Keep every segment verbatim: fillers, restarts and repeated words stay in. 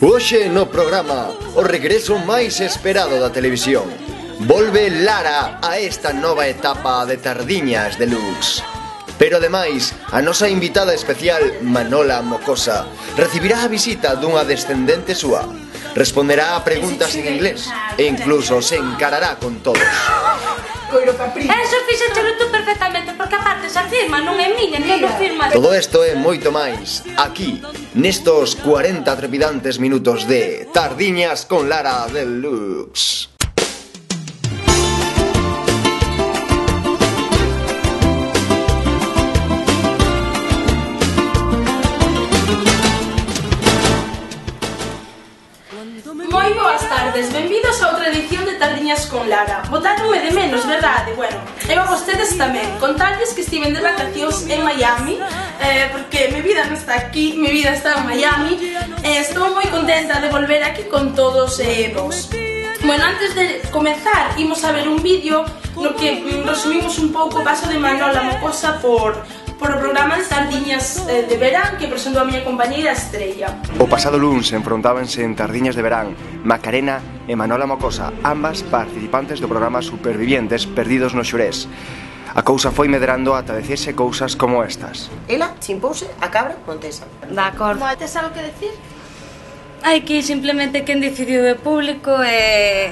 Hoxe no programa, o regreso máis esperado da televisión. Volve Lara a esta nova etapa de Tardiñas Deluxe. Pero ademais, a nosa invitada especial, Manola Mocosa, recibirá a visita dunha descendente súa. Responderá a preguntas en inglés e incluso se encarará con todos. Eso fixéchelo tú perfectamente, porque aparte esa firma non é miña, non o firma. Todo isto e moito máis, aquí, nestos cuarenta trepidantes minutos de Tardiñas con Lara Deluxe. Moi boas tardes, benvidos a outra edición de Tardiñas con Lara. Botáronme de menos, verdade? Bueno, e a vostedes tamén. Contarles que estiven de vacacións en Miami, eh, porque mi vida non está aquí, mi vida está en Miami. eh, Estou moi contenta de volver aquí con todos eh, vos. Bueno, antes de comezar, imos a ver un vídeo no que mm, resumimos un pouco o paso de Manola Mocosa por... por o programa de Tardiñas eh, de Verán que presentou a miña compañeira Estrella. O pasado luns enfrontábanse en Tardiñas de Verán Macarena e Manola Mocosa, ambas participantes do programa Supervivientes Perdidos no Xurés. A cousa foi medrando ata decirse cousas como estas. Ela chimpouse a cabra montesa. De acordo. Tes algo que decir? Hai que simplemente quen decidiu o público e...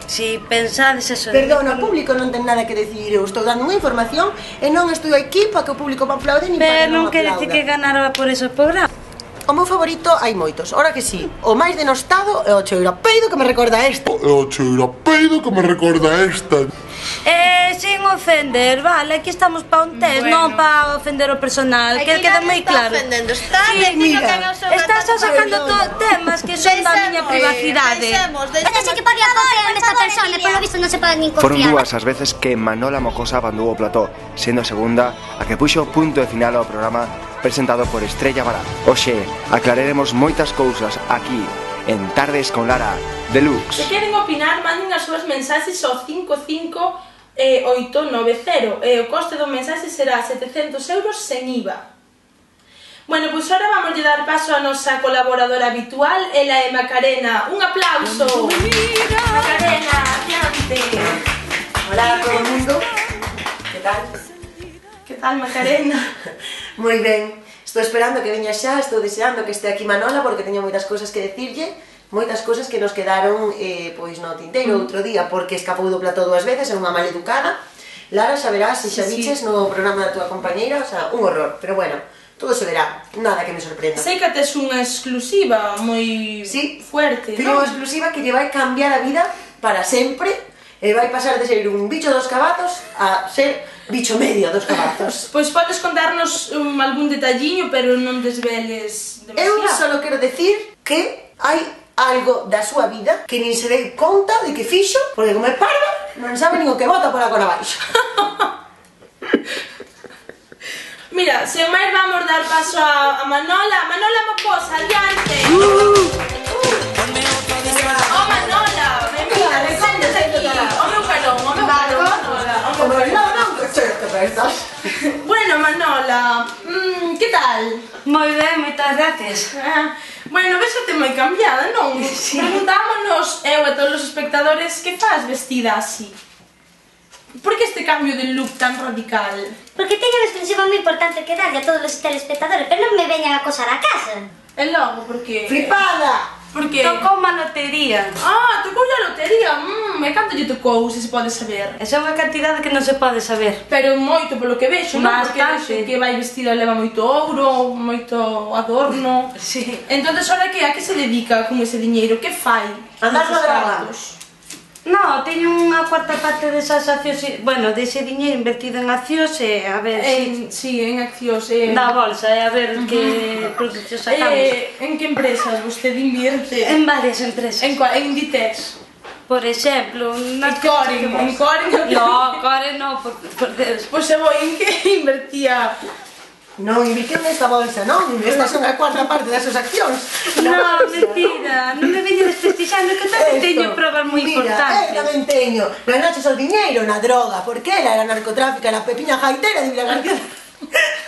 Si pensades eso... Perdón, o público non ten nada que decir. Eu estou dando unha información e non estou aquí para que o público me aplaude ni para que Pero non non quere dicir que ganara por ese programa. O meu favorito hai moitos, ora que sí. O máis denostado é o cheirapeido que me recorda esta. É o cheirapeido que me recorda esta. Eh, sin ofender, vale, aquí estamos pa un test, Bueno. non pa ofender o personal, que queda moi claro. Está Sí, dicindo mira, que non son Estás gatos sacando de to- temas que son da miña privacidade. Deixemos, Este deixemos. sí que podía confiar en esta persona, polo visto non se pode nin Foron confiar. dúas as veces que Manola Mocosa abandou o plató, sendo a segunda a que puxo punto de final ao programa presentado por Estrella Bará. Oxe, aclararemos moitas cousas aquí, en Tardes con Lara Se Deluxe. queren opinar, manden as súas mensaxes ao cinco cinco oito nove cero e o coste do mensaxe será setecentos euros sen I V A. Bueno, pois agora vamos a dar paso a nosa colaboradora habitual, ela é Macarena. Un aplauso! Macarena, adiante! Hola a todo o mundo. Que tal? Que tal, Macarena? Moi ben. Estou esperando que veña xa, estou deseando que este aquí Manola porque teño moitas cousas que decirlle, moitas cousas que nos quedaron eh, pois no tinteiro outro día porque escapou do plató dúas veces, é unha maleducada. Lara, xa verás, se xa Sí, sí. viches no programa da tua compañeira, o sea, un horror, pero bueno, todo se verá, nada que me sorprenda. Sei que tes unha exclusiva moi Sí, fuerte, teño non? unha exclusiva que lle vai cambiar a vida para sempre e vai pasar de ser un bicho dos cabazos a ser bicho medio dos cabazos. Pois podes contarnos um, algún detalliño, pero non desveles Eu demasiado. só quero decir que hai algo da súa vida que nin se dei conta de que fixo, porque como é parva, non sabe nin o que bota por agora baixo. Mira, sen máis vamos dar paso a, a Manola. Manola Mocosa, adiante! Oh, Manola! Benvida, recóndese aquí! O meu carón, o meu carón, Manola! O meu Como carón. non, non, que sei que pensas. Bueno, Manola, mm, que tal? Moi ben, moitas gracias. Ah, bueno, ves que te moi cambiada, non? Sí. Preguntámonos, eu e todos os espectadores, que faz vestida así? Por que este cambio de look tan radical? Porque teño unha exclusiva moi importante que darlle a todos os telespectadores, pero non me veñan a acosar a casa. E logo, por que? Flipada! Por que? Tocou má lotería. Ah, tocou a lotería, mmm, e canto lle tocou, se se pode saber? Esa é unha cantidade que non se pode saber. Pero moito polo que vexo, non? Porque Bastante. vexo que vai vestida, leva moito ouro, moito adorno. Sí. Entonces, ahora que a que se dedica con ese diñeiro? Que fai? Andar Esos na droga. cartos? No, teño unha cuarta parte desas accións, bueno, dese diñeiro invertido en accións e a ver En, sí, en accións. si En, na bolsa e a ver que produtos sacamos. eh, en que empresas vostede invierte? En varias empresas. En, cua- en Inditex. Por exemplo, En Coren, en Coren. No, Core no, por, por Deus. Pois se voi, en que invertía? Non invirtiu nesta bolsa, non? Esta son a cuarta parte das súas accións. No, mentira, non me veño desprestixando, que tamén teño probas moi Mira, eu importantes. tamén teño. Ganaches o diñeiro na droga, porque ela era narcotráfica, era Pepiña Jaitera de Vila García.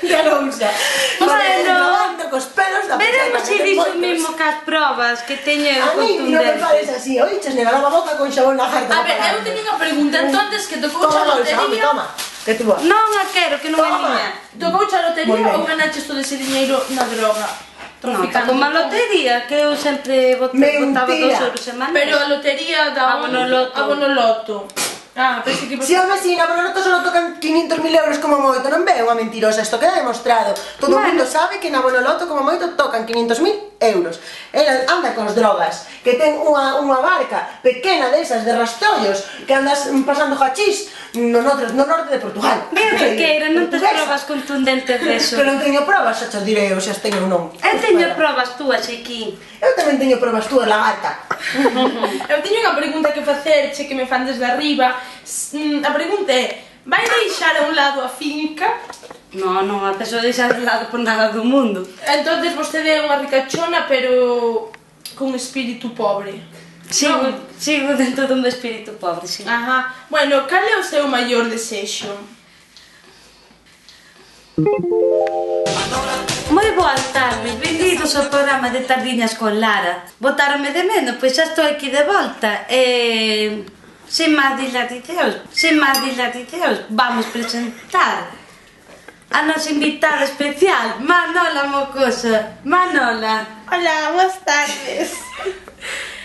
de Arousa. Bueno, Grabando cos pelos da veremos se pecheta, dixo moitos. mesmo que as probas que teño A mí non me fales contundentes. así, oiches, me lava a boca con xabón na jarta. A ver, eu teño unha pregunta, entonces, que tocou Toma, a bolsa, home, lotería... toma. Que tú vas. Non a quero, que non é Toma. miña. Tocou a Moi lotería ben. ou ganaches todo ese diñeiro na droga? Non, Traficando como a con- lotería, que eu sempre bot- Mentira. botaba dos euros semanais. Pero a lotería da... Abonoloto. Abonoloto. Ah, pensei que... Si, home, si, na Bonoloto solo tocan quinientos mil euros como moito, non ve unha mentirosa, isto queda demostrado. Todo o Bueno. mundo sabe que na Bonoloto como moito tocan quinientos mil euros. Ela anda cos drogas, que ten unha, unha barca pequena desas de rastollos, que andas pasando hachís no, norte, no norte de Portugal. Ben, Riqueira, non tes Portuguesa. probas contundentes deso. Que non teño probas, xa te direi, ou xa as teño ou non. Eu teño Espera. probas túas aquí. Eu tamén teño probas túas, lagarta. Eu teño unha pregunta que facerche que me fan desde arriba. S- mm, A pregunta é: vai deixar a un lado a finca? Non, non, a persoa deixa de lado por nada do mundo. Entonces vostede é unha ricachona, pero con espírito pobre. Sigo, Non. sigo dentro dun espírito pobre, sí. Ajá. Bueno, cal é o seu maior desexo? Moi boas tardes, benvidos ao programa de Tardiñas con Lara. Botáronme de menos, pois xa estou aquí de volta. E... sen máis dilaticeos, sen máis dilaticeos, vamos presentar a nosa invitada especial, Manola Mocosa. Manola. Hola, boas tardes.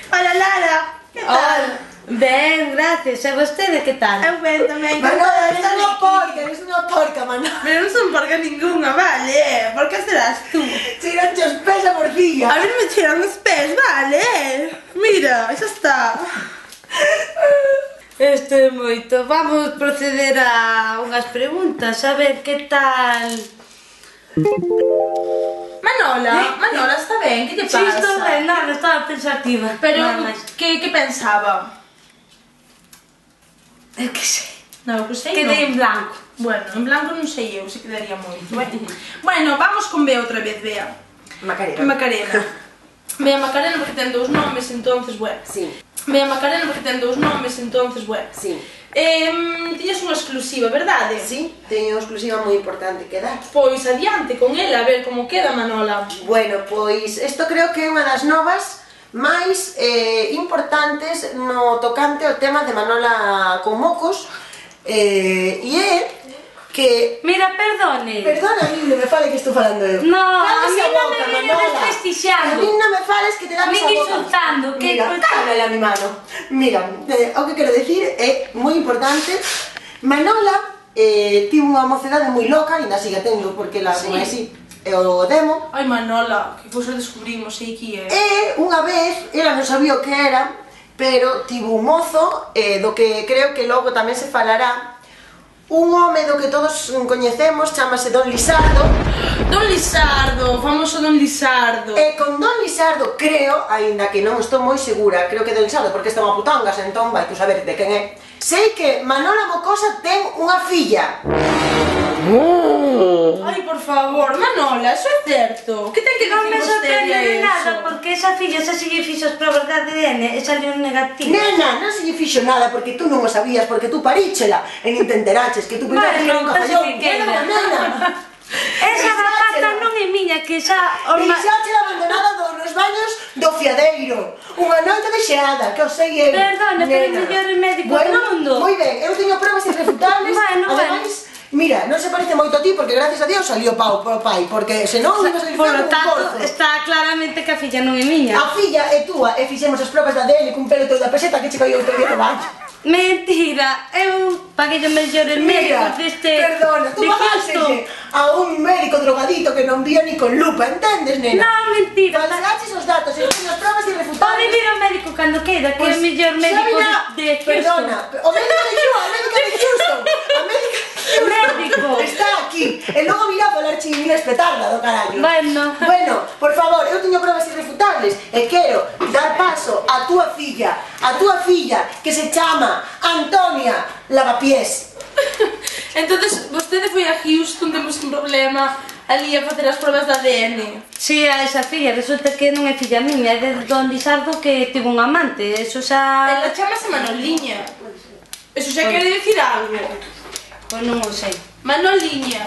Hola, Lara. Que Hola. Ben, gracias. E vostede que tal? Eu ben tamén. Manola, eres unha porca, eres unha porca, Manola. Pero non son porca ninguna, vale? Por que serás tú? Tiranche os pés a morcilla. A ver, me tiran os pés, vale? Mira, xa está. Este é moito. Vamos proceder a unhas preguntas, a ver que tal... Manola, Manola, está ben? Que te Si, pasa? estou ben, nada, estaba pensativa. Pero, Nada máis. que, que pensaba? Eu que sei. Non, que sei, Quedei en non. blanco. Bueno, en blanco non sei eu, se quedaría moito. Bueno, bueno, vamos con Bea outra vez, Bea. Macarena. Macarena. Bea Macarena porque ten dous nomes, entonces, bueno. Sí, Bea Macarena porque ten dous nomes, entonces, bueno. sí. Eh, tiñas unha exclusiva, verdade? Sí, teño unha exclusiva moi importante que dar. Pois adiante con ela, a ver como queda, Manola. Bueno, pois isto creo que é unha das novas máis eh, importantes no tocante ao tema de Manola con mocos eh, e é que... Mira, perdone. Perdona, a mí non me fale que estou falando eu. No, a Cállese mí non boca, me viene Manola. desprestixiando. A mí non me fales que te damos Me a boca. insultando, que Mira, cosa- cállale a mi mano. Mira, eh, o que quero decir é moi importante. Manola eh, tivo unha mocedade moi loca, ainda sigue tendo, porque la Sí. como é así, é o demo. Ai, Manola, que cosa descubrimos aí que é. E unha vez, ela non sabía o que era, pero tivo un mozo, eh, do que creo que logo tamén se falará, un home do que todos coñecemos, chamase Don Lisardo, Don Lisardo, famoso Don Lisardo. e con Don Lisardo creo, aínda que non estou moi segura, creo que Don Lisardo, porque está unha putangas, entón vai tú saber de quen é, sei que Manola Mocosa ten unha filla. Ai, por favor, Manola, eso é certo. Que ten que Non me dicir vostede sorprende a de eso? nada, porque esa filla xa se lle fixo as probas de A D N e salió negativo. Nena, non se lle fixo nada porque tú non o sabías, porque tú paríchela e nin te enteraches que tú pensaste Vale, que era un non te cajallón. expliquei Nena, nada. nena. Esa batata non é miña, que xa... E deixáchela abandonada do, nos baños do fiadeiro. Unha noite de xeada, que o sei eu. Perdona, pero é nena. o mellor médico bueno, do mundo. Moi ben, eu teño pruebas irrefutables. Bueno, Ademais, mira, non se parece moito a ti porque gracias a Dios salió pau pro pai, porque senón iba a salir Por feo lo como un tanto, corzo. está claramente que a filla non é miña. A filla é túa e fixemos as pruebas de A D N cun pelo teu da peseta que che caía outro día no baño. Mentira, eu paguei os mellores Mira, médicos deste... perdona, tú de pagaselle Cristo. a un médico drogadito que non vía ni con lupa, entendes, nena? Non, mentira. Falseaches os datos e as pruebas Pode irrefutables. vir ao médico cando queira, que é o mellor xa médico virá, de Houston. Perdona, o médico de Houston, a médica de Houston, a médica de Houston. Médico. Está aquí, e logo virá a falar inglés petarda do carallo. Bueno. Bueno, por favor, eu teño pruebas irrefutables e quero dar paso a túa filla, a túa filla que se chama Antonia Lavapiés. Entonces, vostede foi a Houston, temos un problema ali a facer as pruebas de A D N. Si, a esa filla, resulta que non é filla miña, é de Don Lisardo que tivo un amante, eso xa... Ela chamase Manoliña. Eso xa quere dicir algo. Pois non o sei. Manoliña.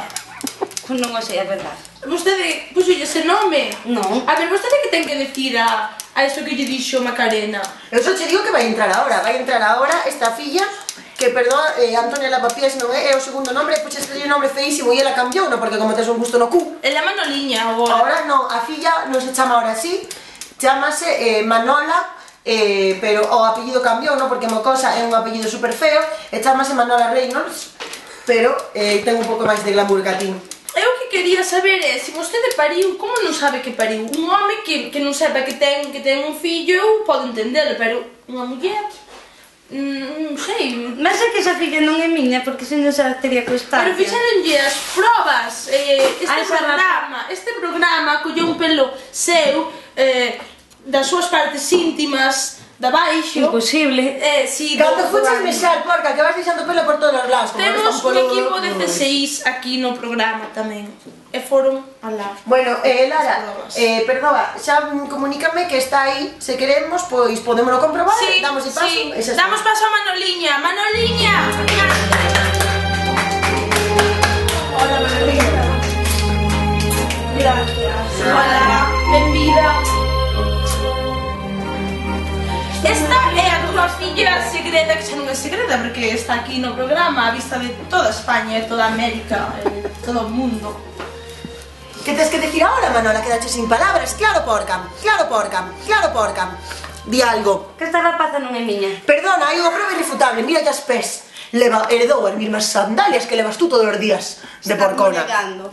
Pois non o sei, a verdade. Vostede puxo ese nome? Non. A ver, vostede que ten que decir a, a isto que lle dixo Macarena? Eu só che digo que vai entrar agora, vai entrar agora esta filla, que, perdón, eh, Antonia Lavapiés non é, é o segundo nombre, puxes que lle nome feísimo e ela cambiou, non? Porque como tes un gusto no cu. É la Manoliña agora. Agora non, a filla non se chama ahora así, chamase eh, Manola, eh, pero o apellido cambiou, non? Porque Mocosa é un apellido super feo, e chamase Manola Reynolds, pero eh, ten un pouco máis de glamour que a ti. Eu que quería saber é, se vostede pariu, como non sabe que pariu? Un home que, que non sepa que ten, que ten un fillo, eu podo entendelo, pero unha muller... Non sei... Mas é que esa filla non é miña, porque se non xa teria constancia. Pero fixeronlle as probas, eh, este A esa programa, este programa colleu un pelo seu, eh, das súas partes íntimas, da baixo. Imposible. Eh, si, Cando do- fuches mexar, porca, que vas deixando pelo por todos os lados. como Temos están un polo- equipo de C seis aquí no programa tamén. E foron alá. Bueno, eh, Lara, Probas. eh, perdona, xa mm, comunícame que está aí, se queremos, pois podémoslo comprobar, Sí, damos de paso, sí. e xa está. Damos paso a Manoliña. Manoliña! Hola, Manoliña. Gracias. Hola, benvida. Esta é a túa filla segreda, que xa non é segreda, porque está aquí no programa a vista de toda España e toda América e todo o mundo. Que tes que decir ahora, Manola? Quedache sin palabras, claro, porca, claro, porca, claro, porca. Di algo. Que esta rapaza non é miña. Perdona, hai unha prova irrefutable, mira as pés. Leva, heredou as mesmas sandalias que levas tú todos os días de porcona. negando.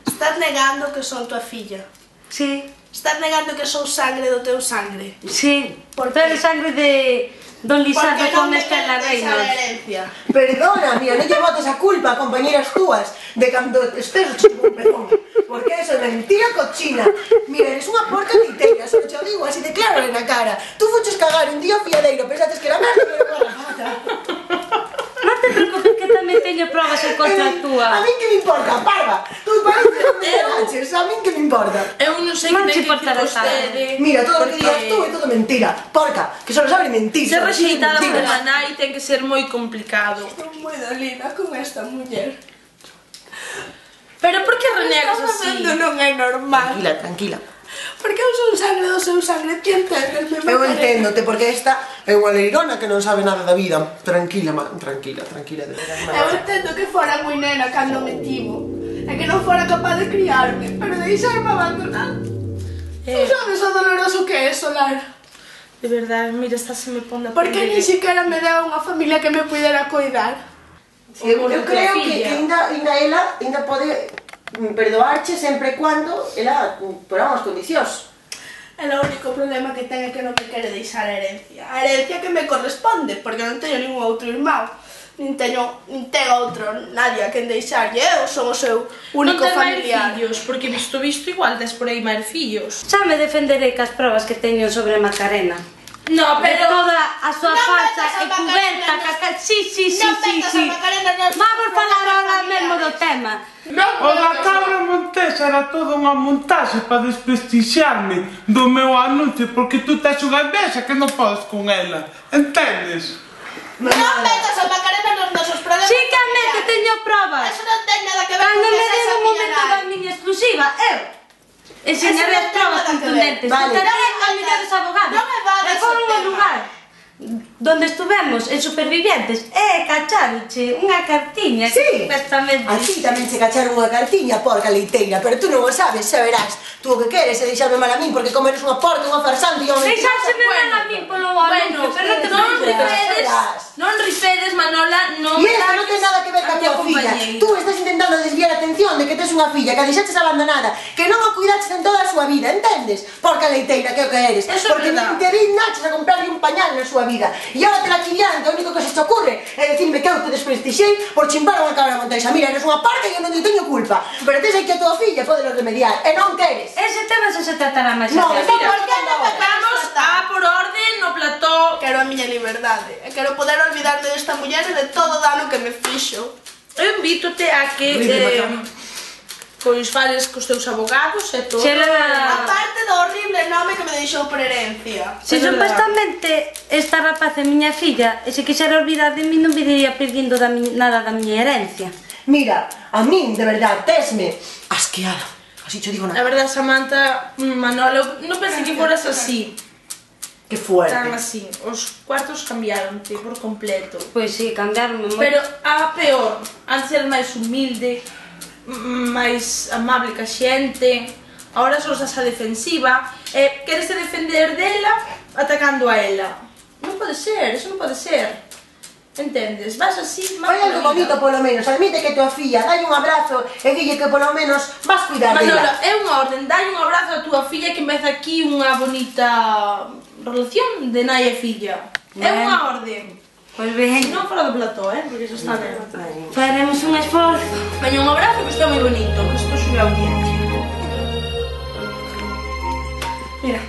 Estás negando que son tua filla. Sí, Estás negando que son sangre do teu sangre. sí. Por Por qué? sangre de Don Lizardo Porque con non me Estela queres deixar a Reynolds. herencia. Perdona, mira, non lle botes a culpa a compañeras túas de cando estés o chico un pezón. Porque eso é mentira cochina. Mira, eres unha porca liteira, só te o digo así de claro na cara. Tú fuches cagar un día fiadeiro, pensaste que era merda e era garrafata. Non te preocupes que tamén teño probas en contra A túa. min que me importa, parva. Tú parece que non me enganches, a min que me importa. Eu non sei Non que te ten que importará vostede. Mira, todo o que porque digas tú é todo mentira. Porca, que solo sabe mentir. ser solo sabe rexeitada por mentiras. unha nai ten que ser moi complicado. Estou moi dolida con esta muller. Pero por que renegas Estás así? facendo non é normal. Tranquila, tranquila. Porque eu son sangre do seu sangre, ti entendes? Eu enténdote, porque esta é unha leirona que non sabe nada da vida. Tranquila, ma, tranquila, tranquila. De veras, Eu entendo que fora moi nena cando me tivo. E que non fora capaz de criarme, pero deixarme abandonar. Eh. Non sabes o doloroso que é, Solar. De verdade, mira, está se me pon a Porque ni siquiera me deu unha familia que me puidera cuidar. Sí, eu, Como eu tua creo que, filla. que ainda, ainda ela ainda pode mm, perdoarche sempre e cuando ela mm, por unhas condicións. E o único problema que ten é que non me quere deixar a herencia. A herencia que me corresponde, porque non teño ningún outro irmão. Nin teño, nin ten outro, nadie a quen deixarlle. Eu son o seu único non ten familiar. máis fillos, porque visto visto igual tes por aí máis fillos. Xa me defenderei cas probas que teño sobre Macarena. No, Pero pero... toda a súa Non falsa metas a e cuberta, Macarena caca... Sí, sí, sí, Non sí, metas sí. a Macarena nos Vamos falar problemas ahora mesmo do familiares. tema. O da cabra montesa era toda unha montaxe para desprestixiarme do meu anuncio porque tú tes unha envexa que non podes con ela, entendes? Non metas a Macarena nos nosos problemas Sí que admito, familiares. teño probas. Eso non ten nada que ver Cando con me que seas den a un momento miña da nai. miña exclusiva, eu enseñaré Eso non as ten probas nada que ver. contundentes. Vale. Contaré Non me a millores vades- abogados. non me vades E foron o ao tema. lugar donde estuvemos en Supervivientes e cacharonche unha cartiña Sí, que supuestamente... a ti tamén se cacharon unha cartiña, porca leiteira, pero tú non o sabes, xa verás. Tú o que queres é deixarme mal a min porque como eres unha porca, unha farsante e unha mentirosa. Deixárseme mal a min polo Bueno, anuncio, pero non te non preocupes. ripedes, verás. non ripedes, Manola, non E isto non ten nada que ver ca tua filla. Tú estás intentando desviar a atención de que tes unha filla que a deixaches abandonada, que non a cuidaches en toda a súa vida, entendes? Porca leiteira, que é o que eres. Eso é Porque verdad. nin te dignaches a comprarle un pañal na súa vida. E agora te la chillan, que o único que se te ocurre é decirme que eu te desprestixei por chimbar unha cabra montesa. Mira, eres unha parca e eu non te teño culpa. Pero tes aí que a tua filla podelo remediar, e non queres. Ese tema xa se tratará máis No, adiante. está Por que non me Vamos a por orde no plató. Quero a miña liberdade. E quero poder olvidarme desta muller e de todo o dano que me fixo. Eu invítote a que Horrible, eh, pois fales cos teus abogados e todo. Xela- Aparte do horrible nome que me deixou por herencia. Se É verdade. supostamente esta rapaz é miña filla e se quixera olvidar de mí non viría pedindo da mi, nada da miña herencia. Mira, a min, de verdad, tesme asqueada. Así cho digo La nada. verdad, Samantha, Manolo, no pensé que fueras así. Que fuerte. Tan así. Os cuartos cambiaronte por completo. Pois si, cambiaronme moito. Pero a peor, antes eres máis humilde, máis amable ca xente, agora sos a defensiva, e queres defender dela atacando a ela. Non pode ser, eso non pode ser. Entendes? Vas así, Fai algo bonito polo menos, admite que tua filla, dai un abrazo e dille que polo menos vas cuidar Manolo, dela. é unha orden, dai un abrazo a tua filla que empeza aquí unha bonita relación de nai e filla. É Ben. unha orden. Pois ben, Non fora do plató, eh, porque eso está ben. faremos un esforzo. Veña, un abrazo que está moi bonito, que isto sube a audiencia. Mira,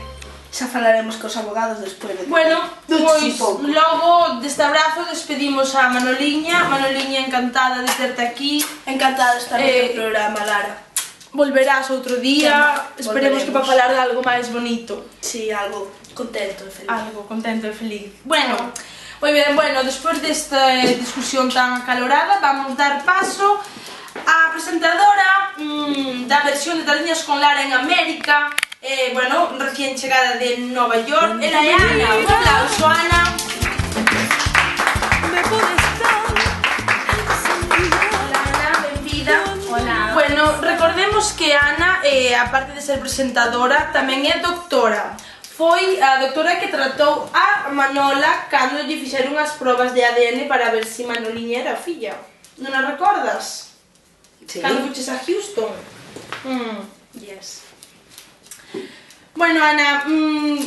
xa falaremos cos abogados despois de... Bueno, Duchi pois pouco. logo deste abrazo despedimos a Manoliña. Manoliña, encantada de terte aquí. Encantada de estar Eh, no programa, Lara. Volverás outro día. Llama, Esperemos que para volveremos. falar de algo máis bonito. Sí, algo contento e feliz. Algo contento e feliz. Bueno, moi ben, bueno, despois desta discusión tan acalorada, vamos dar paso á presentadora mmm, da versión de Tardiñas con Lara en América. Eh, bueno, recién chegada de Nova York. Ela é Ana. Un aplauso, Ana. Hola, Ana, benvida. Hola. Bueno, recordemos que Ana, eh, aparte de ser presentadora, tamén é doctora. Foi a doctora que tratou a Manola cando lle fixeron as probas de A D N para ver se Manoliña era filla. Non a recordas? Sí. Cando fuches a Houston. Mm. Yes. Bueno, Ana, mm,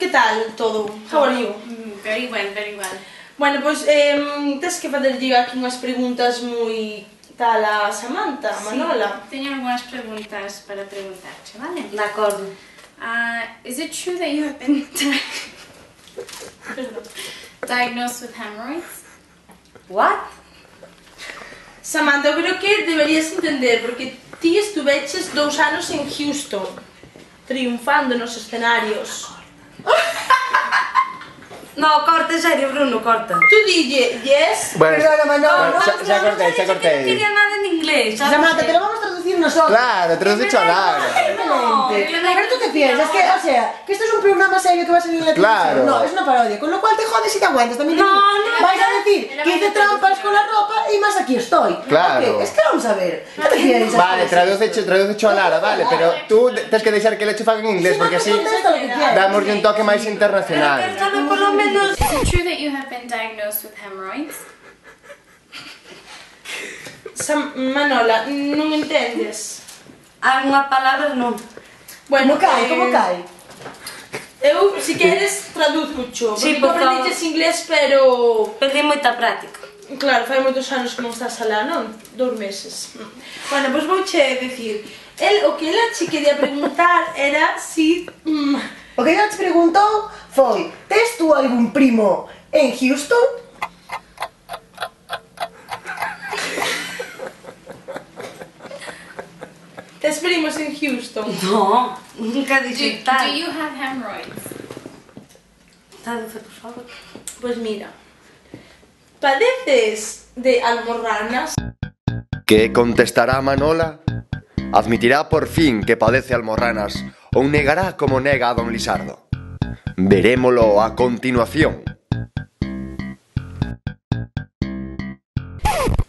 que tal todo? How are you? Mm, very well, very well. Bueno, pois, eh, tes que facerlle aquí unhas preguntas moi tal a Samantha, a Manola. Sí, teño algunhas preguntas para preguntarte, vale? De acordo. Uh, is it true that you have been di- diagnosed with hemorrhoids? What? Samantha, eu creo que deberías entender, porque ti estuveches dous anos en Houston, triunfando nos escenarios. No, corta, en serio, Bruno, corta. Tú dille, yes, Bueno, Perdona, Manolo. xa, xa cortei, xa No cortei. quería nada en inglés, ¿sabes? Samantha, te lo vamos a traducir nosotros. Claro, te lo has dicho a Lara. No, Pero tú qué piensas, que, o sea, que esto es un programa serio que va a salir en la televisión. Claro. No, es una parodia, con lo cual te jodes y te aguantas. También te No, digo, no, vais a decir que hice trampas con la ropa y más aquí estoy. Claro. Ok, es que vamos a ver. ¿Qué te piensas? Vale, traducecho, traducecho a Lara, vale, pero tú tens que deixar que le chufan en inglés, porque así Contesta lo que quieras. damos un toque máis Pero internacional. sabe por lo menos... Is it true that you have been diagnosed with hemorrhoids? Sam Manola, non entendes? Algunas palabras non. Bueno, ¿Cómo cae? eh, ¿Cómo cae? Eu, si queres, traduzco, Sí, porque por tú favor. aprendiches inglés, pero... Perdí moita práctica. Claro, fai moitos anos que non estás alá, non? Dous meses. Bueno, pois vouche decir, el, o que ela che quería preguntar era si... Mm, O que ela te preguntou foi: tes tú algún primo en Houston? tes primos en Houston? No, nunca Do, dixen do tal. you have hemorrhoids? Traduce, por favor. Pois mira, padeces de almorranas? Que contestará Manola? Admitirá por fin que padece almorranas ou negará como nega a don Lisardo? Verémolo a continuación.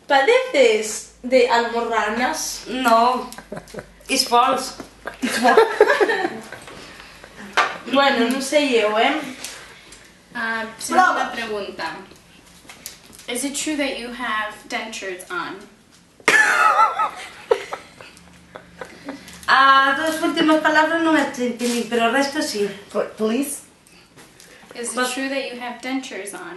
Padeces de almorranas? No, it's false. Bueno, non sei eu, eh? Uh, segunda pregunta. Is it true that you have dentures on? As dos últimas palabras non as entendí, pero o resto sí. Please, Is it true that you have dentures on?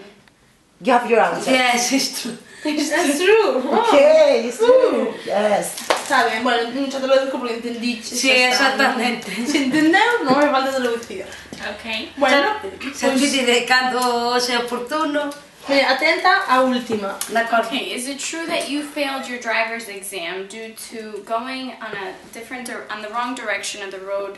you have your answer. Yes, it's true. That's true. Okay, it's true. Yes. Está ben, bueno, non xa te lo digo porque entendiche. Sí, xa está. exactamente. Se entendeu, non me falta traducir. Okay. Bueno, Se pois, pide cando sea oportuno. mira, atenta á última. De acordo. Okay, is it true that you failed your driver's exam due to going on a different dir- on the wrong direction of the road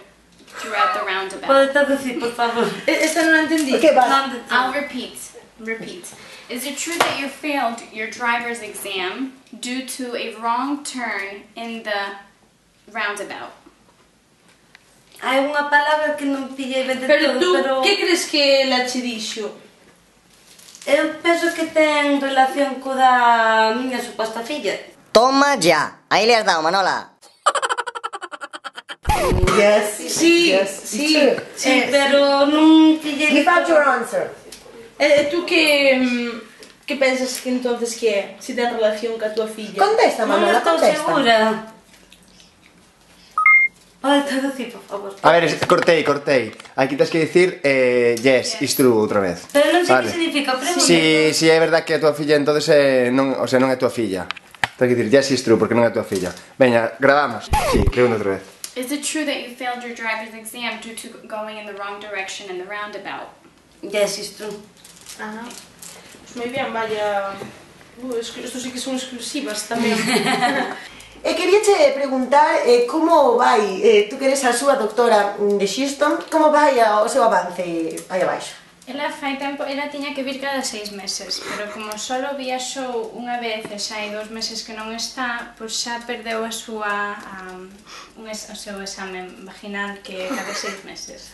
throughout the roundabout? Pode traducir, por favor. E- Esta non a entendí. Que vas? Non de I'll repeat. repeat. Is it true that you failed your driver's exam due to a wrong turn in the roundabout? Hai unha palabra que non pillei ben de Pero todo, tú, pero... que crees que la che dixo? Eu penso que ten relación co da miña suposta filla. Toma ya. Ahí le has dado, Manola. Yes, Sí, yes, sí, it's true. Sí, pero non pillei... Give out your answer. Eh, tú que... mm, que pensas que entonces que é? Si ten relación ca tua filla? Contesta, Non Manola, estou contesta. segura. Pode traducir, por favor. A ver, es- cortei, cortei. Aquí tens que dicir eh, yes, it's true outra vez. Pero non sei Vale. que significa, pregunta. Si, si é verdad que é a tua filla, entonces eh, non, o sea, non é tua filla. Tens que dicir yes, it's true, porque non é tua filla. Veña, gravamos. Si, pregunta outra vez. Is it true that you failed your driver's exam due to going in the wrong direction in the roundabout? Yes, it's true. Ajá. Pues moi bien, vaya... Uh, es- esto sí que son exclusivas tamén. E queríache preguntar eh, como vai, eh, tú que eres a súa doctora de Houston, como vai a- o seu avance aí abaixo? Ela fai tempo, ela tiña que vir cada seis meses, pero como solo viaxou unha vez e xa hai dos meses que non está, pois xa perdeu a súa, um, un es, o seu examen vaginal que é cada seis meses.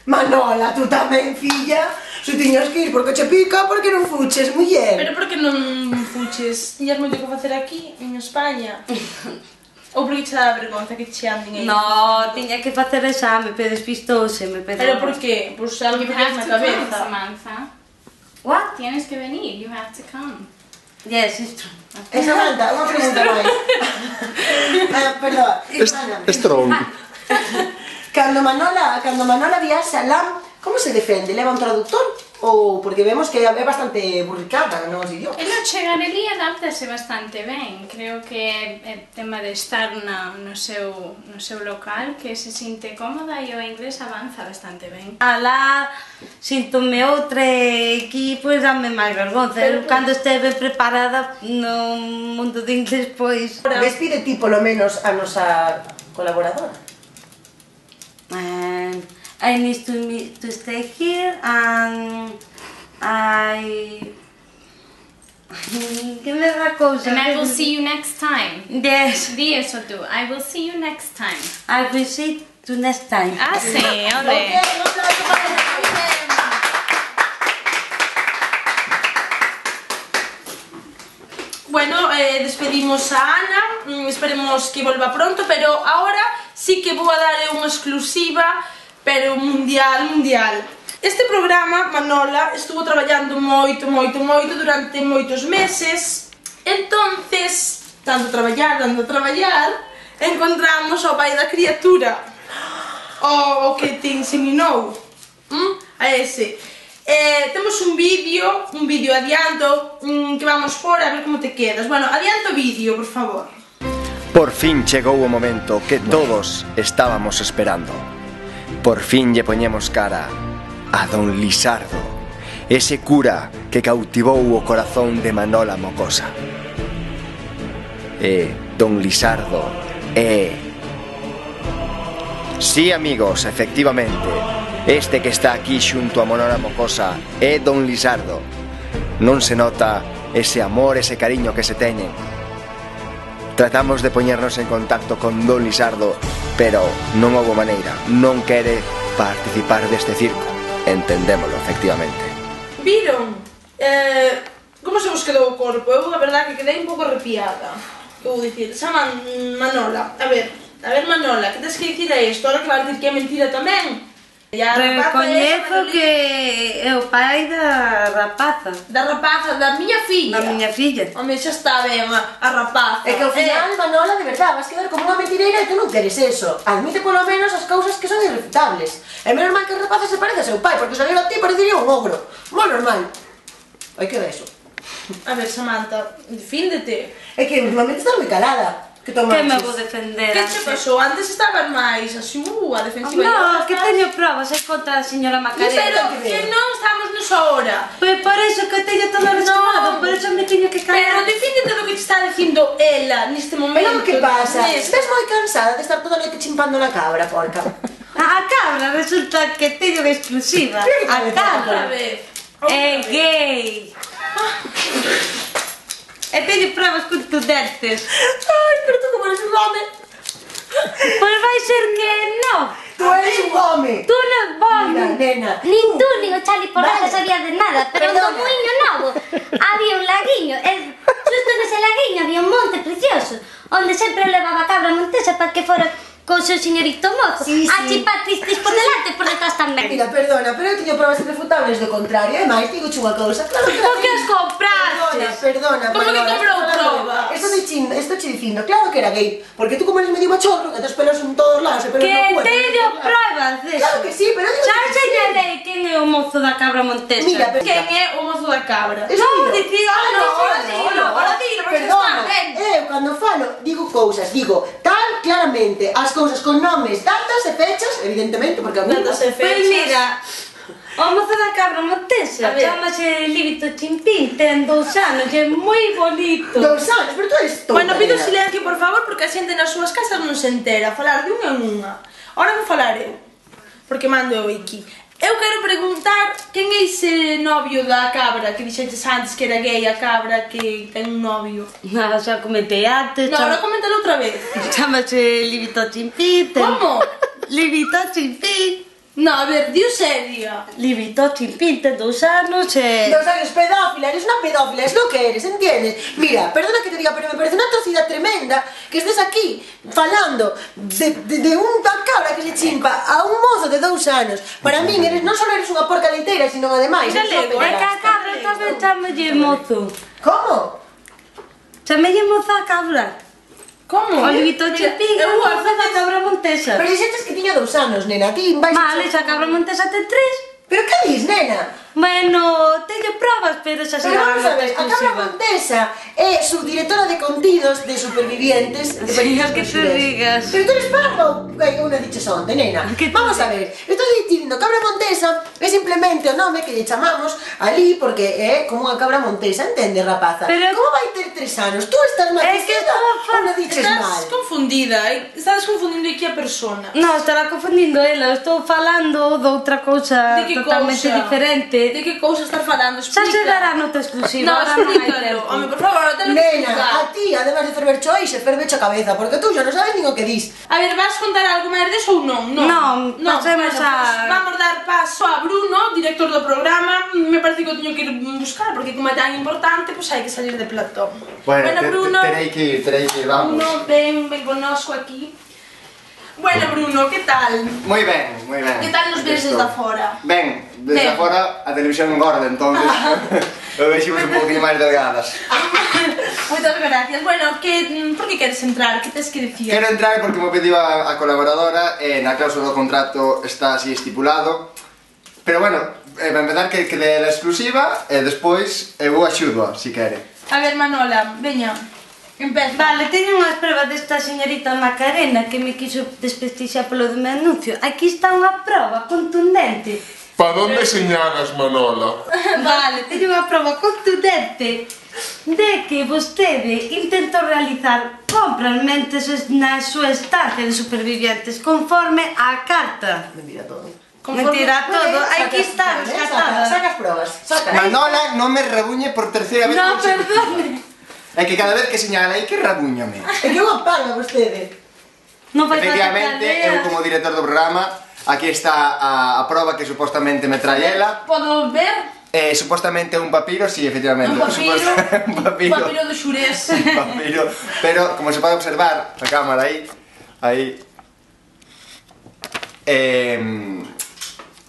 Manola, tú tamén, filla, se tiñas que ir porque che pica, porque non fuches, muller. Pero por que non fuches? Tiñas moito que facer aquí, en España? Ou porque che dá vergonza que che anden aí? No, tiña que facer exame, pero despistouse, me pedou. Pero por que? Pois algo You que tenías have na to come, cabeza. Samantha. What? Tienes que venir, you have to come. Yes, it's true. E Samantha, unha pregunta máis. ah, perdón, hermana. Strong. Cando Manola, cando Manola viaxa lá, como se defende? Leva un traductor? Ou porque vemos que é bastante burricada nos idiomas? Ela chegar ali adáptase bastante ben. Creo que é tema de estar na, no, seu, no seu local, que se sinte cómoda e o inglés avanza bastante ben. Alá, síntome outra e aquí, pois, dame máis vergonza. Eu, cando esteve preparada no mundo de inglés, pois... Despide ti, polo menos, a nosa colaboradora. And I need to me to stay here and I que me da cousa. And I will see you next time. Yes, Di eso tú. I will see you next time. I will see you next time. Ah, sí, ole. Bueno, eh, despedimos a Ana, mm, esperemos que volva pronto, pero ahora sí que vou a dar unha exclusiva, pero mundial, mundial. Este programa, Manola, estuvo traballando moito, moito, moito durante moitos meses. Entonces, tanto traballar, tanto traballar, encontramos ao pai da criatura, o, o que te inseminou, ¿m? A ese. Eh, temos un vídeo, un vídeo adianto, mm, que vamos por a ver como te quedas. Bueno, adianto o vídeo, por favor. Por fin chegou o momento que todos estábamos esperando. Por fin lle poñemos cara a Don Lisardo, ese cura que cautivou o corazón de Manola Mocosa. E Don Lisardo é... Sí, amigos, efectivamente, este que está aquí xunto a Manola Mocosa é Don Lisardo. Non se nota ese amor, ese cariño que se teñen. Tratamos de poñernos en contacto con Don Lisardo, pero non houbo maneira, non quere participar deste circo. Entendémolo, efectivamente. Viron? Eh, como se vos quedou o corpo? Eu, a verdade, que quedei un pouco arrepiada. Que vou dicir? Saman, Manola, a ver, a ver, Manola, que tens que dicir a isto? Ahora que vas dicir que é mentira tamén. Recoñezo que é o pai da rapaza. Da rapaza, da miña filla. Da miña filla. Home, xa está ben, a, a rapaza. É que ao final, Eh, Manola, de verdad, vas quedar como unha mentireira e tú non queres eso. Admite polo menos as cousas que son irrefutables. É menos mal que a rapaza se parece a seu pai, porque se viera a ti parecería un ogro. Moi normal. Aí queda eso. A ver, Samantha, defíndete. É que últimamente estás moi calada. Que Que tomaches? me vou defender? Que che pasou? Antes estabas máis así, uh, a defensiva. No, e que ahora teño provas é contra a señora Macarena. Pero que non estamos nesa hora. Pois por eso que teño todo resumado, por eso me teño que Pero callar. defíndete do que te está dicindo ela neste momento. Pero que pasa? Neste- Estás moi cansada de estar toda a noite chimpando na cabra, porca. A cabra resulta que teño de exclusiva. A Outra cabra. vez. É gay. E teño pruebas contundentes. Ai, pero tú como eres un home. Pois vai ser que non. Tú eres un home. Tú non vas. Mira, nena. Nin tú, nin o Chali Porraza sabía de nada, pero Perdona. no muiño novo había un laguiño, e justo nese laguiño había un monte precioso, onde sempre levaba a cabra montesa para que fora con seu señorito mozo, Sí, sí. a chipar tristis por delante e por detrás tamén. Mira, perdona, pero eu teño pruebas irrefutables do contrario. E máis, digo unha cousa, claro que... Por que as compraste? Perdona, perdona, Como que Manola, comprou esto- probas? Esto de chin, esto che dicindo, claro que era gay, porque tú como eres medio machorro, que tes pelos en todos lados e pelos Que no cuerpo. teño pruebas deso. Claro que sí, pero digo Xa que sí. enseñarei quen é o mozo da cabra montesa. Mira, pero... Quen é o mozo da cabra? Es No, mío. dicir, Ah, no, ahora dilo, ahora dilo, porque Perdona, está ben. eu cando falo digo cousas, digo tal claramente as cousas con nomes, datas e fechas, evidentemente, porque a mí... Datas e Pois fechas. mira, o mozo da cabra montesa A ver. chamase Líbito Chimpín, ten dous anos e é moi bonito. Dos anos, pero tú eres tonta. Bueno, pido nena. silencio, por favor, porque a xente nas súas casas non se entera. Falar de unha en unha. Ahora vou falar eu, porque mando eu aquí. Eu quero preguntar quen é ese novio da cabra que dixeches antes que era gay a cabra que ten un novio. Nada, xa comentei antes. No, chama- ahora coméntalo outra vez. Chámase Líbito Chimpín. ten- Como? Líbito Chimpín. No, a ver, diu seria. Líbito Chimpín ten dous anos e... Dos años pedófila, eres una pedófila, es lo que eres, ¿entiendes? Mira, perdona que te diga, pero me parece una atrocidad tremenda que estés aquí falando de, de, de unha cabra que se chimpa a un mozo de dous anos. Para min, eres, non só eres unha porca leiteira, sino ademais... Mira, eres unha lego, É que a pederasta. cabra tamén chámalle mozo. Como? Chámalle mozo a cabra. Como? O Líbito Mira, Chimpín é eu mozo vou da cabra montesa. Pero dixetes que tiña dous anos, nena, ti vais... Vale, xa a cabra montesa ten tres. Pero que dis, nena? Bueno, teño probas, pero xa se Pero van vamos a ver, a cabra exclusiva. montesa é subdirectora de contidos de supervivientes de Sí, películas que te brasileñas. digas. Pero tú eres parva ou que unha diches onte, nena? Que te Vamos a digas. ver, estou dicindo cabra montesa é simplemente o nome que lle chamamos ali porque é como unha cabra montesa, entende, rapaza? Pero- Como vai ter tres anos? Tú estás É que matizada estou ou fa- non diches Estás mal? confundida, eh? Estás confundindo aquí a persona. No, estará confundindo ela, eu estou falando de outra cousa De que totalmente cousa? diferente. De que cousa estás falando? Xa Explica. se dará nota exclusiva, No, ahora non hai explícalo. tempo. Home, por favor, ahora te lo que Nena, explicar. a ti, además de ferver choixe, ferve a cabeza, porque tú xa non sabes nin o que dis. A ver, vas contar algo máis deso ou non? Non, pasemos bueno, a- pues vamos dar paso a Bruno, director do programa. Me parece que o teño que ir buscar, porque como é tan importante, pues hai que salir de platón. Bueno, te- te- Bruno, terei que ir, terei que ir, vamos. Bruno, ven, ven connosco aquí. Bueno, Bruno, que tal? Moi ben, moi ben. Que tal nos ves Estou. desde fora? Ben, desde Ben. fora a televisión engorda, entonces lo veximos un poquinho máis delgadas. Moitas gracias. Bueno, que, por que queres entrar? Que tes que dicir? Quero entrar porque me pediu a, a colaboradora e na cláusula do contrato está así estipulado. Pero bueno, eh, para empezar que, que dé a exclusiva e despois eu axudo, si quere. A ver, Manola, veña. Empeza. Vale, teño unhas pruebas desta señorita Macarena que me quiso desprestixiar polo do meu anuncio. Aquí está unha proba contundente. ¿Para dónde señalas, Manola? Vale, teño unha proba contundente de que vostede intentou realizar compras mentes na súa estancia de supervivientes conforme á carta. Mentira todo. Mentira todo, aquí está, Saca, rescatada. saca as probas, saca. Manola non me rabuñe por terceira vez. No, consecutivo. perdone. É que cada vez que señala aí que rabuñame. É que unha paga vostede. Non fai falta Efectivamente, que eu leas. como director do programa, aquí está a, a proba que supostamente me trae ela. Podo ver? Eh, supostamente un papiro, sí, efectivamente. Un papiro, Suposta- un papiro. un papiro de xurés. Un papiro. Pero, como se pode observar, a cámara aí, aí, eh,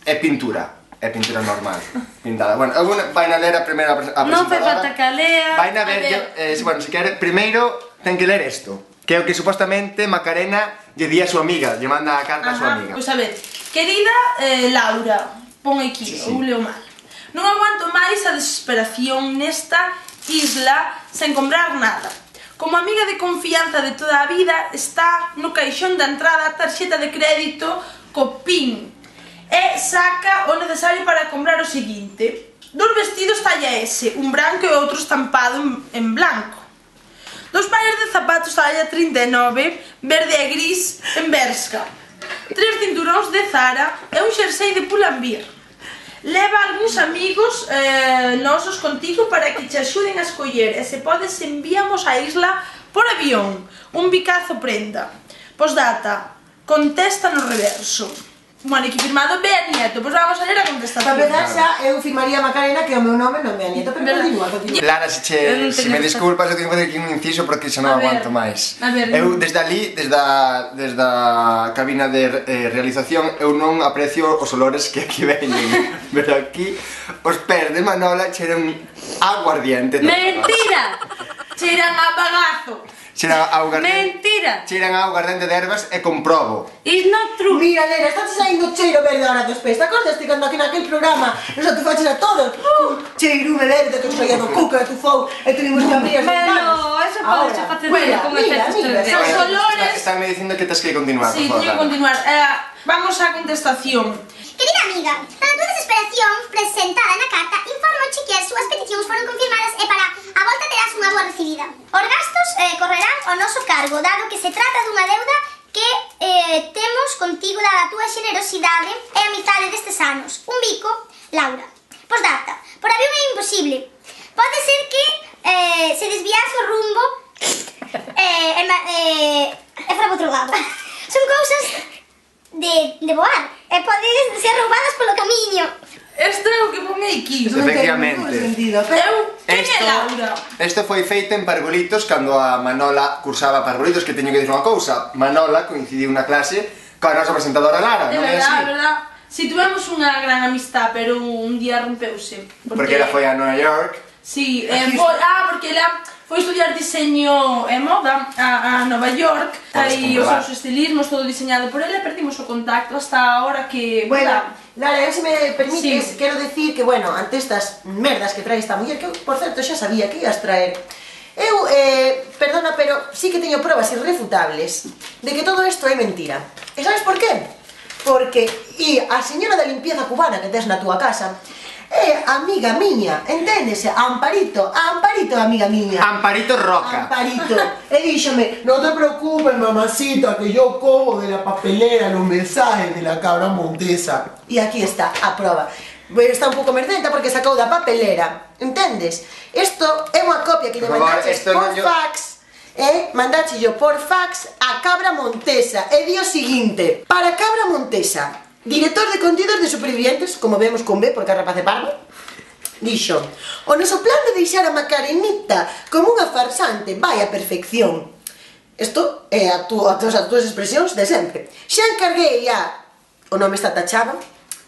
é pintura. É pintura normal, pintada. Bueno, eu vai na ler a primeira a presentadora. Non fai falta que a lea. Vai na A ver, ver. yo, eh, bueno, se quere, primeiro ten que ler isto, que é o que supostamente Macarena lle di a súa amiga, lle manda a carta a súa Ajá, amiga. pois a ver, querida eh, Laura, pon aquí, Sí, sí. ou leo mal. Non aguanto máis a desesperación nesta isla sen comprar nada. Como amiga de confianza de toda a vida, está no caixón da entrada a tarxeta de crédito co PIN e saca o necesario para comprar o seguinte: dos vestidos talla S, un branco e outro estampado en, en blanco. Dos pares de zapatos talla trinta e nove, verde e gris en Bershka. Tres cinturóns de Zara e un xersei de Pull&Bear. leva algúns amigos eh, nosos contigo para que te axuden a escoller, e se podes enviamos a isla por avión. Un bicazo prenda. Postdata, contesta no reverso. Bueno, aquí firmado Bea Nieto. Pois vamos a ler a contestación. Para empezar xa, eu firmaría Macarena, que é o meu nome, non Bea Nieto, pero continúa, continúa. Lara, se, che, se me disculpas, eu tengo que fazer aquí un inciso porque xa non aguanto máis. Eu, desde ali, desde a, desde a cabina de eh, realización, eu non aprecio os olores que aquí veñen. Pero aquí, os pés de Manola cheran aguardiente. Mentira! Cheran a bagazo. Cheran a aguardiente. Mentira! Cheran a aguardiente de ervas e comprobo. It's not true. Mira, nena, estás saindo cheiro verde ahora dos pés. Te acordaste cando aquí naquel programa nos atufaches a todos con cheirume verde que saía do cuca, do fou e tuvimos que abrir as ventanas. Bueno, eso pode ser facer mira, con mira, efectos mira, tres D. Os olores... Estánme dicindo que tens que continuar, Sí, por favor. teño que continuar. Eh, vamos á contestación. Querida amiga, para a túa desesperación presentada na carta, informoche que as súas peticións foron confirmadas e para a volta terás unha boa recibida. Os gastos eh, correrán ao noso cargo, dado que se trata dunha deuda que eh, temos contigo dada a túa xenerosidade e a amizade destes anos. Un bico, Laura. Postdata, por avión é imposible. Pode ser que eh, se desviase o rumbo e eh, eh, eh, fora por outro lado. Son cousas de, de voar e podes ser roubadas polo camiño. Este é o que ponei aquí. Efectivamente. Eu, quen é Esto, Laura? esto foi feito en Parvulitos cando a Manola cursaba Parvulitos, que teño que dicir unha cousa. Manola coincidiu na clase coa nosa presentadora Lara, De non é verdad, así? de verdad. Si tuvemos unha gran amistad, pero un día rompeuse. Porque ela foi a Nova York. Sí, eh, foi, ah, porque ela foi estudiar diseño e moda a, a Nova York. Aí os seus estilismos, todo diseñado por ela, e perdimos o contacto hasta a hora que... Bueno, Lara, eu se me permites, Sí. quero decir que, bueno, ante estas merdas que trae esta muller, que eu, por certo, xa sabía que ibas traer, eu, eh, perdona, pero sí que teño probas irrefutables de que todo isto é mentira. E sabes por qué? Porque e a señora da limpieza cubana que tes na túa casa é amiga miña, enténdese? Amparito, Amparito é amiga miña. Amparito Roca. Amparito. E díxome, no te preocupes, mamacita, que yo cojo de la papelera los mensajes de la cabra montesa. E aquí está a proba. Pero está un pouco merdenta porque sacou da papelera, entendes? Isto é unha copia que lle Por favor, mandaches esto por non yo- fax, e mandache yo por fax a cabra montesa. E di o seguinte, para cabra montesa, director de contidos de supervivientes, como vemos con B, porque a rapaz é parvo, dixo, o noso plan de deixar a Macarenita como unha farsante vai a perfección. Isto é a túa, as túas expresións de sempre. Xa encarguei a, o nome está tachado,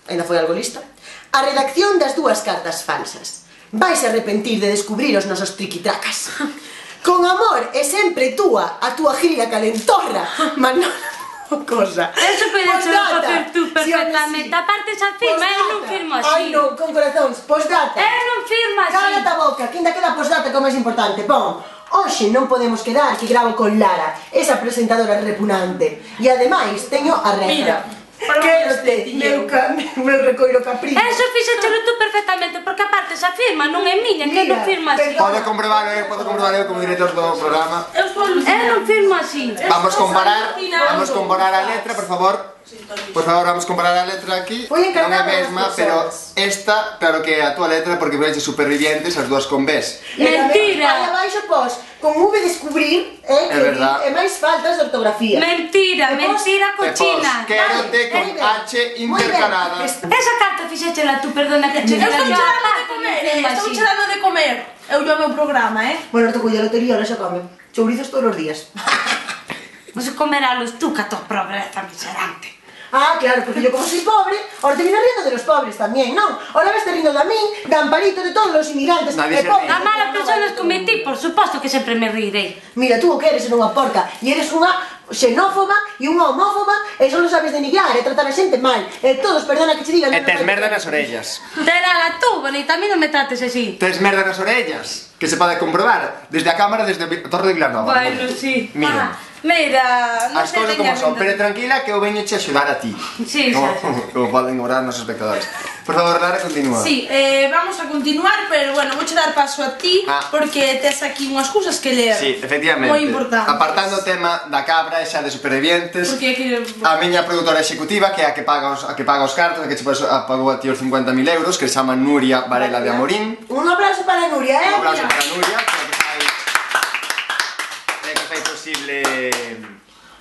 ainda foi algo lista, a redacción das dúas cartas falsas. Vais a arrepentir de descubrir os nosos triquitracas. Con amor e sempre túa, a túa gilia calentorra, Manola. Cosa. Eso podes facer tú perfectamente. Aparte esa firma, eu non firmo así. Ai non, con corazóns, postdata. Eu non firmo así. Cállate a boca, que ainda queda postdata como é importante. Pon, hoxe non podemos quedar que gravo con Lara, esa presentadora repugnante. E ademais teño a regra. Mira, quérote, meu, ca, meu recoiro capricho. Eso fixéchelo tú perfectamente, porque aparte esa firma non é miña, que eu non firmo así. Podo comprobar, eu podo comprobar eu como director do programa. Eu estou Eu non firmo así. Vamos comparar, vamos comparar a letra, por favor. Por favor, vamos comparar a letra aquí. Foi Non é a encargado mesma, das pero persoas. esta, claro que é a túa letra porque vexe supervivientes as dúas con Bs. Mentira. Aí abaixo pos, con V descubrir, eh, É que verdad. e máis faltas de ortografía. Mentira, E pos- mentira E pos, cochina. quérote con Vale, H moi ben. intercalada. Es- Esa carta fixéchela tú, perdona que che Eu estou diga yo, che dando de aparte non comer, firmo estou así. che dando de comer. Eu o meu programa, eh? Bueno, te cuido a lotería, ahora xa come. Chourizos todos os días. Vas a comerálos tú, que a tua pobreza miserante. Ah, claro, porque yo como soy pobre, ahora te viene riendo de los pobres también, ¿no? Ahora me estoy riendo de mí, de Amparito, de todos los inmigrantes. Nadie de se pobres, ríe. A malas personas cometí, por suposto que sempre me rirei. Mira, tú o que eres unha porca, e eres unha xenófoba e unha homófoba, e só lo sabes denigrar e tratar a xente mal. E todos, perdona que che diga... E tes merda nas orellas. Terala tú, bonita, a mí non me trates así. Tes merda nas orellas, que se pode comprobar desde a cámara, desde a Torre de Vilanova. Bueno, sí. Mira. Ah, Mira, non As sei cousas como veña son, vindo. pero tranquila que eu veño che axudar a ti. Sí, como, xa, xa. como poden obrar os nosos espectadores. Por favor, Lara, continúa. Sí, eh, vamos a continuar, pero bueno, vouche dar paso a ti Ah. porque tes aquí unhas cousas que ler. Sí, efectivamente. Moi importantes. Apartando o tema da cabra e xa de supervivientes, Porque que... a miña produtora executiva, que é a que paga os, a que paga os cartos, a que che pues, a pagou a ti os cincuenta mil euros, que se chama Nuria Varela de Amorín. Un aplauso para Nuria, eh? Un aplauso para Nuria, que é que fai, é que fai posible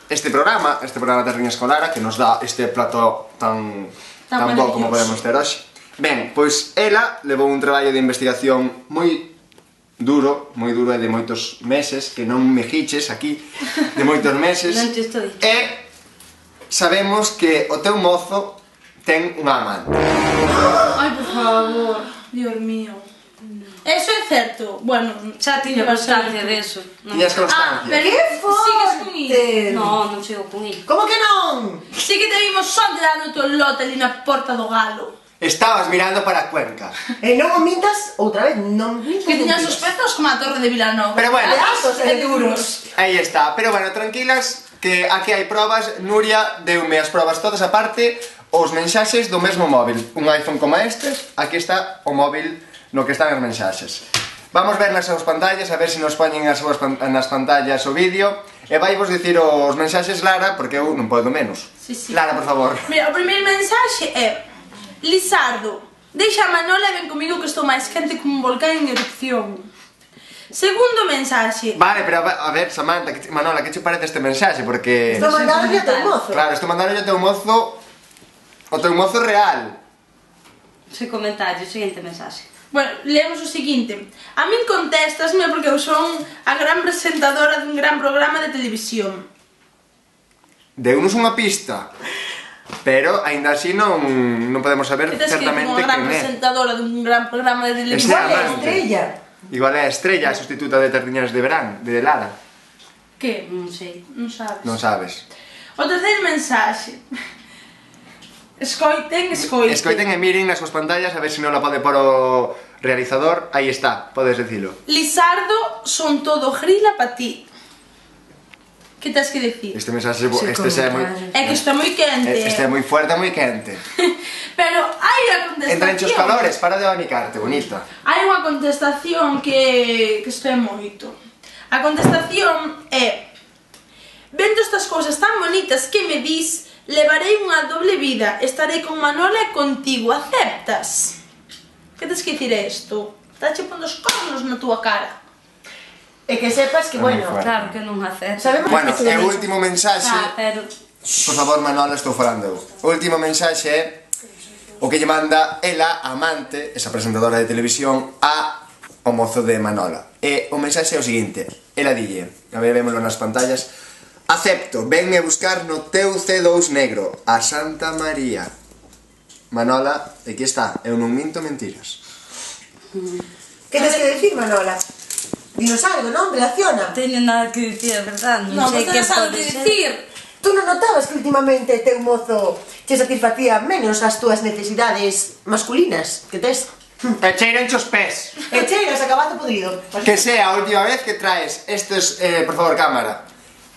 este programa, este programa de Terriña Escolara, que nos dá este plato tan, Tan tan bo como maravilloso. podemos ter hoxe. Ben, pois ela levou un traballo de investigación moi duro, moi duro e de moitos meses, que non me giches aquí, de moitos meses. Non te estou. E sabemos que o teu mozo ten unha amante. Ai, por favor, Dios mío. Eso é certo. Bueno, Xa tiño constancia deso. Tiñas Ah, constancia. pero Que sigues con forte! iso. No, non sigo con il. Como que non? Sí que te vimos son dando o teu lote ali na porta do galo. Estabas mirando para Cuenca. E non o mintas, outra vez, non mintas. Que tiñan mentiras. sus pezos como a torre de Vilanova. Pero bueno. De altos e de duros. Aí está, pero bueno, tranquilas, que aquí hai probas. Nuria deume as probas todas aparte, os mensaxes do mesmo móvil. Un iPhone como estes, aquí está o móvil no que están as mensaxes. Vamos ver nas súas pantallas, a ver se nos poñen as súas pan nas pantallas o vídeo. E vai vos dicir os mensaxes, Lara, porque eu non podo menos. Sí, sí. Lara, por favor. Mira, o primeiro mensaxe é: Lizardo, deixa a Manola e ven comigo que estou máis quente como un volcán en erupción. Segundo mensaxe: Vale, pero a ver, Samantha, que, Manola, que che parece este mensaxe? Porque... Estou mandando a teu mozo. Claro, estou mandando o teu mozo, o teu mozo real. Sen comentario, seguinte mensaxe. Bueno, leemos o seguinte: a min contestasme porque eu son a gran presentadora dun gran programa de televisión. Deunos unha pista. Pero, aínda así, non, non podemos saber Que tes que ir certamente como a gran quen é. presentadora dun gran programa de Ese televisión. é amante. Estrella. Igual é a Estrella, a sustituta de Tardiñas de Verán, de Lara. Que? Non sei. Non sabes. Non sabes. O terceiro mensaxe: escoiten, escoiten. Escoiten e miren nas súas pantallas a ver se non la pode por o realizador. Aí está, podes dicilo. Lizardo, son todo grila pa ti. Que tens que decir? Este mensaxe, este é moi... É que está moi quente. Este é moi fuerte, moi quente. Pero hai a contestación. Entra en os calores, para de abanicarte, bonita. Hai unha contestación que, que isto é moito. A contestación é: vendo estas cousas tan bonitas que me dis, levarei unha doble vida, estarei con Manola e contigo, aceptas? Que tens que dicir isto? Está che pondo os cornos na túa cara. E que sepas que, bueno, Claro que non acepto. sabemos Bueno, que e o último mensaxe... Ah, pero... Por favor, Manola, estou falando eu. O último mensaxe é o que lle manda ela, a amante, esa presentadora de televisión, a o mozo de Manola. E o mensaxe é o seguinte: ela dille, a ver, vémoslo nas pantallas: acepto, venme buscar no teu C dous negro, a Santa María. Manola, aquí está, eu non minto mentiras. Que tens que decir, Manola? Dinos algo, non? Relaciona. Non teño nada que dicir, a verdad. Non, Non sei non que tens algo pode que ser. dicir. Tú non notabas que últimamente teu mozo che satisfacía menos as túas necesidades masculinas que tes? E cheiran os pés. E cheiras acabando podrido. Que sea a última vez que traes estes, eh, por favor, cámara,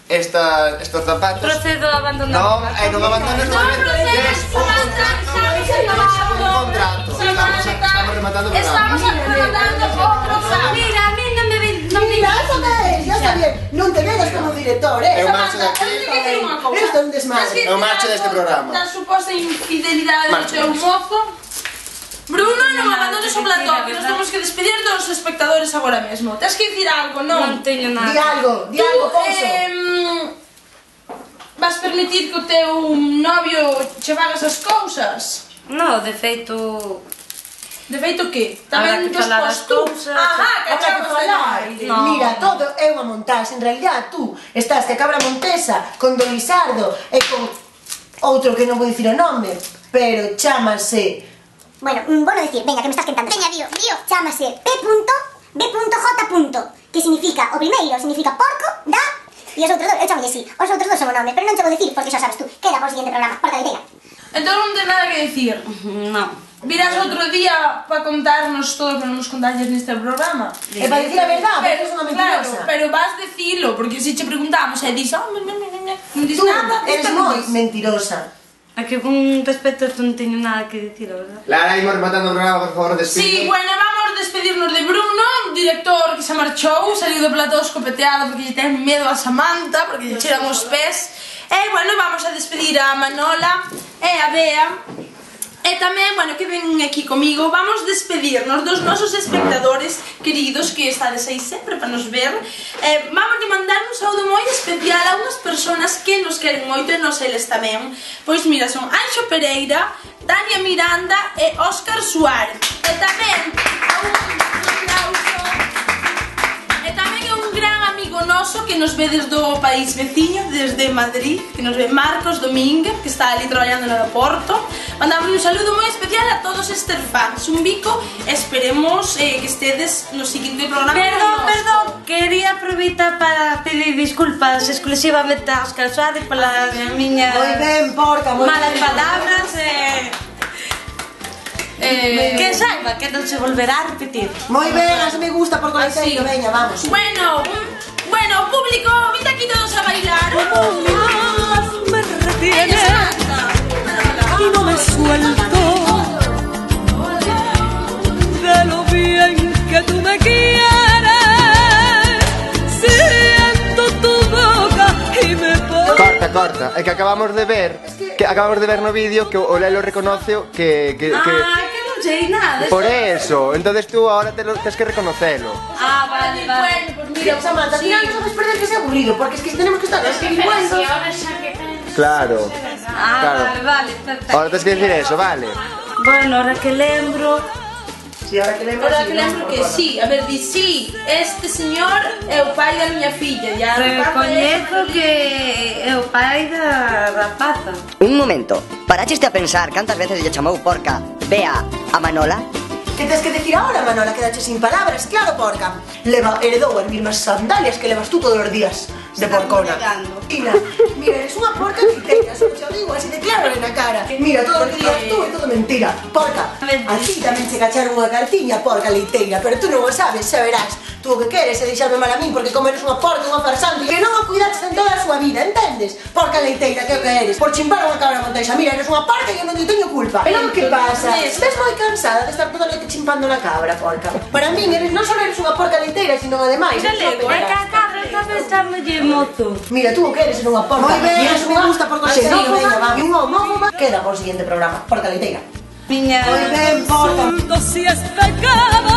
esta, estos zapatos. Procedo a abandonar. Non, eh, non abandones o momento. Tes un contrato. Un contrato. Estamos, estamos rematando o programa. Estamos rematando o programa. Mira, a mí non me ven... Non me Mira, eso que é, ya está bien. Non te vedas como director, eh? Eu marcho de aquí. Eu teño que dicir unha cousa. Isto é un desmadre. Tens que Eu marcho dicir deste algo programa. Da suposta infidelidade do Marcho, teu marcho. mozo. Bruno, non nada abandones que o platón, dicir, que nos verdad. temos que despedir dos espectadores agora mesmo. Tens que dicir algo, non? Non teño nada. Di algo, di Tú, algo, Ponzo. eh, vas permitir que o teu novio che fagas as cousas? No, de feito... De feito que? Habrá Tamén que falar despois as tú. cousas. Ajá, que Habrá que achabas de falar. nai. No. Mira, todo é unha montaxe. En realidad, tú estás que a cabra montesa con Don Lisardo e con outro que non vou dicir o nome, pero chámase... Bueno, mm, bueno decir, venga, que me estás quentando. Veña, dio, dio. Chámase P punto B punto J. Que significa, o primeiro significa porco, da, e os outros dos, eu chamo así, os outros dos son o nome, pero non che vou decir porque xa sabes tú. Queda para o siguiente programa, porca de tela. Entón non ten nada que dicir. No. Virás outro día para contarnos todo o que non nos contalles neste programa. E para dicir a verdade, porque es unha mentirosa. Claro, pero vas decilo, porque se che preguntamos e dis, oh, non dis Tú nada, eres moi mentirosa. A que con respecto a esto non teño nada que dicir, a verdad. Lara, imos rematando o programa, por favor, despide. Sí, bueno, vamos a despedirnos de Bruno, director que se marchou, saliu do plató escopeteado porque lle ten medo a Samantha, porque lle cheran os pés. E, bueno, vamos a despedir a Manola e a Bea. E tamén, bueno, que ven aquí comigo, vamos despedirnos dos nosos espectadores queridos que estades aí sempre para nos ver. eh, Vamos a mandar un saúdo moi especial a unhas personas que nos queren moito e nos eles tamén. Pois mira, son Anxo Pereira, Tania Miranda e Óscar Suárez. E tamén a un aplauso. E tamén a un gran amigo noso que nos ve desde o país veciño, desde Madrid, que nos ve Marcos Domínguez, que está ali traballando no aeroporto. Mandamos un saludo moi especial a todos estes fans. Un bico, esperemos eh, que estedes no seguinte programa. Perdón, perdón, quería aproveitar para pedir disculpas exclusivamente a Óscar Suárez pola miña Moi ben, porca, moi malas ben. palabras e... Eh, que saiba que non se volverá a repetir. Moi ben, así me gusta por coleteiro, veña, vamos. Bueno, bueno, público, vite aquí todos a bailar. Me retiene y no me suelto de lo bien que tú me quieres. Siento tu boca y me pongo. Corta, corta, é que acabamos de ver que acabamos de ver no vídeo que o Lelo reconoce que que Ah, que que non sei nada. por eso, entonces tú ahora te lo tienes que reconocerlo. Ah, vale, vale. Bueno, pues mira, Samantha, al final no sabes perder que sea aburrido, porque es que tenemos que estar así igual. Claro. Ah, Claro. vale, vale, perfecto. Ahora tienes que decir eso, vale. Bueno, ahora que lembro... Si, ahora que lembro, Ahora sí, que non, lembro por que favor. sí, a ver, di sí, este señor é o pai da miña filla. Ya Recoñezo que é o pai da rapaza. Un momento, paraxeste a pensar cantas veces lle chamou porca Bea a Manola? Que tens que decir ahora, Manola? Quedache sin palabras, claro, porca. Leva, heredou as mismas sandalias que levas tú todos os días de porcona. Mira, mira, eres unha porca leiteira, só te o digo así de claro na cara. Mira, todo o que digas tú é todo mentira. Porca, a ti tamén se cacharon unha cartiña, porca leiteira, pero tú non o sabes, xa verás. Tú o que queres é deixarme mal a min porque como eres unha porca, unha farsante que non a cuidaches en toda a súa vida, entendes? Porca leiteira, que o que eres? Por chimpar unha cabra monteixa, mira, eres unha porca e eu non te teño culpa. Pero que pasa? Estás moi cansada de estar toda a noite chimpando na cabra, porca. Para min eres non só eres unha porca leiteira, sino ademais eres unha É que a pederasta. cabra tamén chámolle mozo. Mira, tú o que eres unha porca. Moi ben, Mira, eso me gusta por así, xenófoba venga, va. e unha homófoba queda por siguiente programa. Porca leiteira. Miña... Moi ben, porca. Si es pecado